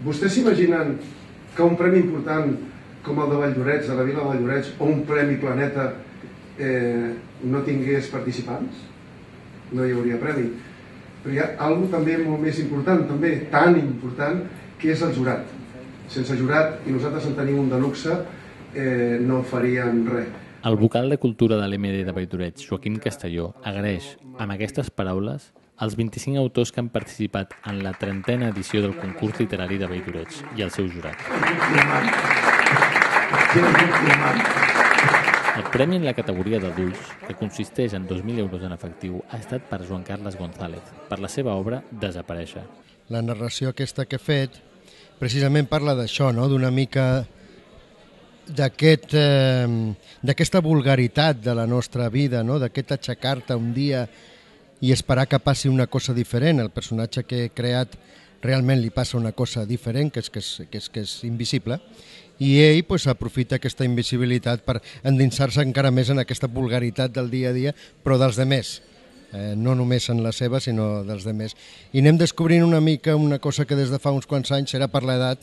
Vostès s'imaginen que un premi important com el de Valldorets, de la Vila de Valldorets, o un premi Planeta no tingués participants? No hi hauria premi. Però hi ha alguna també molt més important, també tan important, que és el jurat. Sense jurat, i nosaltres en tenim un de luxe, no faríem res. El vocal de Cultura de l'MD de Valldorets, Joaquim Castelló, agraeix, amb aquestes paraules, els 25 autors que han participat en la 30a edició del concurs literari de Valldorets i el seu jurat. El premi en la categoria d'adults, que consisteix en 2.000 euros en efectiu, ha estat per Joan Carles González, per la seva obra Desaparèixer. La narració aquesta que he fet precisament parla d'això, no? D'una mica d'aquesta vulgaritat de la nostra vida, no? D'aquest aixecar-te un dia i esperar que passi una cosa diferent. El personatge que he creat realment li passa una cosa diferent, que és invisible, i ell aprofita aquesta invisibilitat per endinsar-se encara més en aquesta vulgaritat del dia a dia, però dels demés, no només en la seva, sinó dels demés. I anem descobrint una mica una cosa que des de fa uns quants anys, serà per l'edat,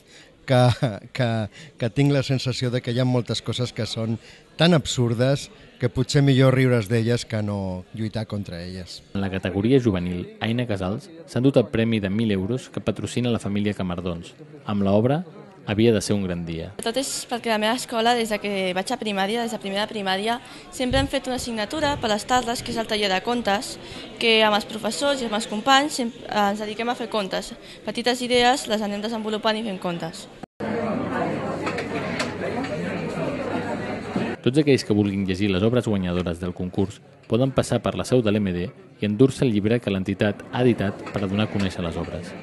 que tinc la sensació de que hi ha moltes coses que són tan absurdes que potser millor riure's d'elles que no lluitar contra elles. En la categoria juvenil, Aina Casals s'ha endut el premi de 1.000 euros que patrocina la família Camardons. Amb l'obra havia de ser un gran dia. Tot és perquè a la meva escola, des que vaig a primària, des de primera primària, sempre hem fet una assignatura per les tardes, que és el taller de contes, que amb els professors i amb els companys ens dediquem a fer contes. Petites idees les anem desenvolupant i fent contes. Tots aquells que vulguin llegir les obres guanyadores del concurs poden passar per la seu de l'MD i endur-se el llibre que l'entitat ha editat per a donar a conèixer les obres.